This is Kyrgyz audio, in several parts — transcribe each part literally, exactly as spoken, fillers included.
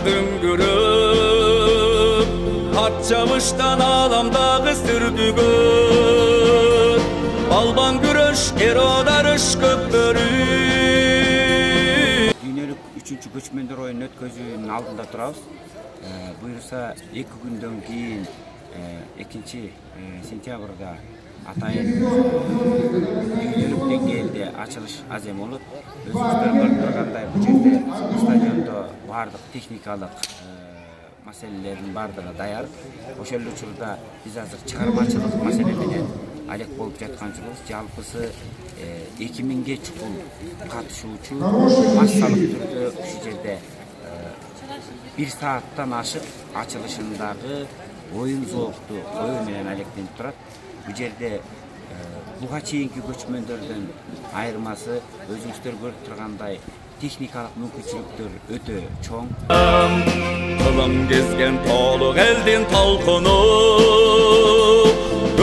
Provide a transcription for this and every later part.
дүңгүрөп, ат чабыштан аламдагы сүрдүгөт, балбан күрөш, эродарыш көптөрү. Дүйнөлүк үчүнчү көчмөндөр оюнун өткөзүүнүн алдында турабыз. Буюрса эки күндөн кийин экинчи сентябрда атайын дүйнөлүк деңгээлде ачылыш азем болот. Өзүңүздөр көрүп тургандай, бул жерде стадиондо бардык техникалык маселелердин бардыгы даяр. Ошол учурда биз азыр чыгармачылык маселе менен алек болуп жаткан жокпуз. Жалпысы эки миңге чукул катышуучу массалык түрдө ушул жерде бир сааттан ашык ачылышындагы оюн зоокту коюу менен алектенип турат. Бул жерде буга чейинки көчмөндөрдөн айырмасы өзүңүздөр көрүп тургандай техникалык мүмкүнчүлүктөр өтө чоң. Кылым кезген тоолук элдин толкуну,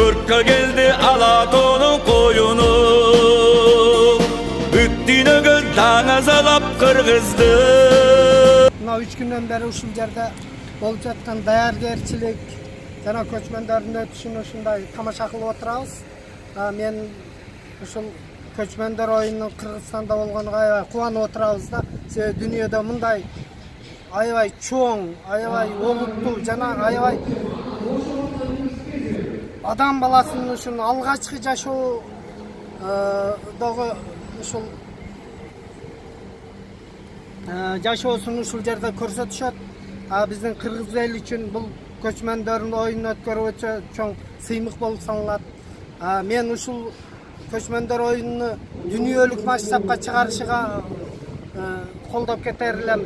өрткө келди Алатоонун коюну, бүт дүйнөгө таң азалап кыргызды. Мына үч күндөн бери ушул жерде болуп жаткан даяргерчилик жана көчмөндөрдүн өтүшүн ушундай тамаша кылып отурабыз. Мен ушул көчмөндөр оюнунун Кыргызстанда болгонуна аябай кубанып отурабыз да. Себеби дүйнөдө мындай аябай чоң, аябай олуттуу жана аябай адам баласынын ушул алгачкы жашоодогу ушул жашоосун ушул жерде көрсөтүшөт. Биздин кыргыз эл үчүн бул көчмөндөрдүн оюнун өткөрүү өтө чоң сыймык болуп саналат. Мен ушул көчмөндөр оюнуну дүйнөлүк масштабка чыгарышыга колдоп кетер элем.